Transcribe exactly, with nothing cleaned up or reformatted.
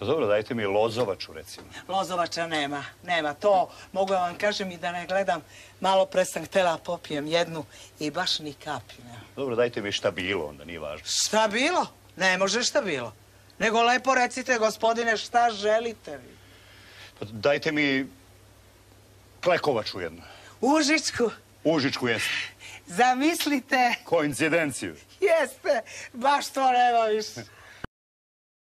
Dobro, dajte mi lozovaču, recimo. Lozovača nema, nema. To mogu vam kažem i da ne gledam. Malo pre sam htjela popijem jednu i baš ni kapi nema. Dobro, dajte mi šta bilo, onda nije važno. Šta bilo? Ne može šta bilo. Nego lepo recite, gospodine, šta želite vi? Pa dajte mi klekovaču jednu. Užičku. Užičku jeste. Zamislite. Koincidenciju. Jeste, baš to nema više.